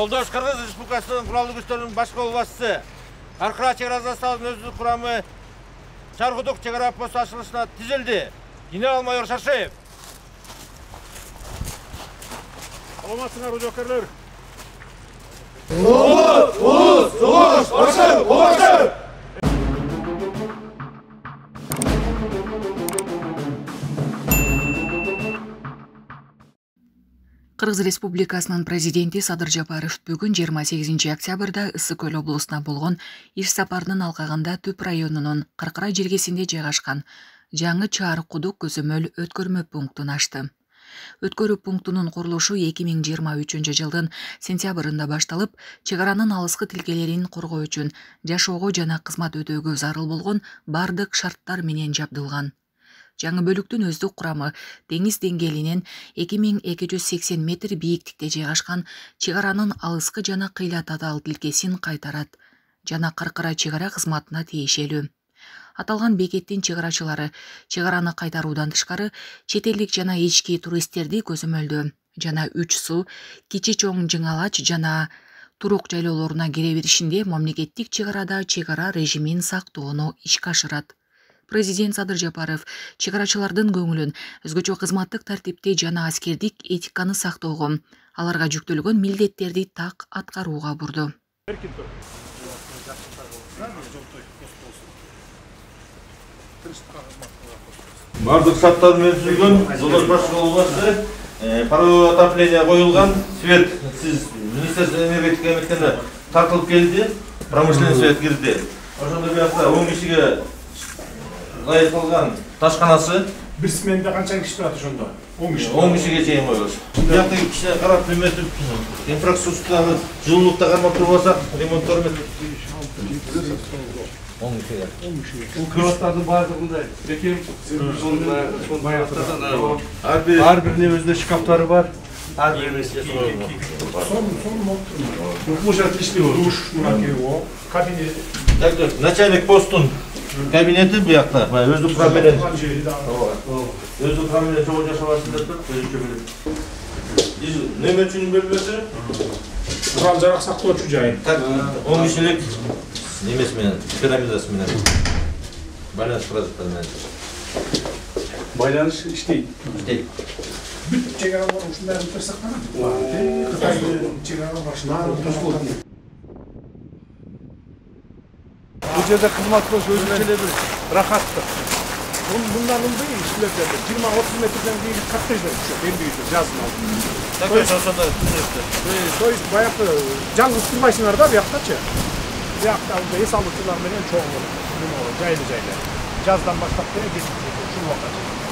Жолдош Кыргыз Республикасынын куралдуу күчтөрүнүн баш кол башчысы Каркыра чек ара заставынын өздүк курамы Чаркудук чек ара посту ачылышына тизилди. Генерал-майор Шаршеев. Саламатсыңарбы жокерлер? Улус, башы! Кыргыз Республикасынын президенти Садыр Жапаров бүгүн 28 октябрда Ысык Көл облусуна болгон иш сапарынын алкагында Түп районунун Каркыра желкесинде жайгашкан жаңы Чаркудук көзөмөл өткөрмө пунктун ачты. Өткөрүү пунктунун курулушу 2023 жылдын сентябрында башталып, чек аранын алыскы тилкелерин коргоо үчүн жашоого жана кызмат өтөөгө зарыл болгон бардык шарттар менен жабдылган. Жаңы бөлүктүн өздүк курамы деңиз деңгээлинен 2280 метр бийиктикте жайгашкан чек аранын алыскы жана кыйла татаал тилкесин кайтарат жана Каркыра чек ара кызматына тиешелүү. Аталган бекеттин чек арачылары чек араны кайтаруудан тышкары чет элдик жана ички туристтерди көзөмөлдөө жана Үч Суу, Кичи Чоң Жыңалач жана Турук жайлоолоруна кире беришинде мамлекеттик чек арада чек ара режимин сактоону ишке ашырат. Президент Садыр Жапаров чек арачылардын көңүлүн өзгөчө кызматтык тартипти жана аскердик этиканы сактоого, аларга жүктөлгөн милдеттерди так аткарууга бурду. Бардык шарттар менен түзүлгөн, жолдош баш кол башчысы, паровое отопление коюлган, свет сиз Министерство энергетика эмектерине тартылып келди, промышленный свет кирди. Ошондой биякта 10 кишиге лайыкталган ташканасы. Бир сменде канча киши турат ошондо? 10 киши. 10 кишиге чейин коебуз. Бияктагы кишине карап эметип, инфраструктураны жылуулукта кармап турбасак, ремонттор эметип 10 кишиге. Бул кроваттардын баардыгында бекем Ар бирине өзүнүн шкафтары бар. ар биринин Бул жер иштеп душ, мына кабинет. Так, начальник постун кабинети биякта, өздүк курам менен. Өздүк курам менен чогуу жашабасын деп туруп, өзүнчө билет. Неметчүнүн бөлмөсү, Курал жарак сактоочу жай. 10 кишилик немеси менен, пирамидасы менен. Байланыш продукттары менен. байланыш иштейт. Иштейт. Бүт чек аралар ушундай кылып сактанат. Кытайдын чек аралары башына Бул жерде кызмат болсо өзүнчө эле бир рахаттык. Bundan ылдый иштелип жатат. 20-30 метрден кийин коттедждер түшөт, элдигиче жаздын алдында. Так, ошондо түшөттү. То есть баягы жалгыз турбайсыңар да бияктачы. Биякта эс алуучулар менен чоң жайлы. Жаздан баштап ушул убакка.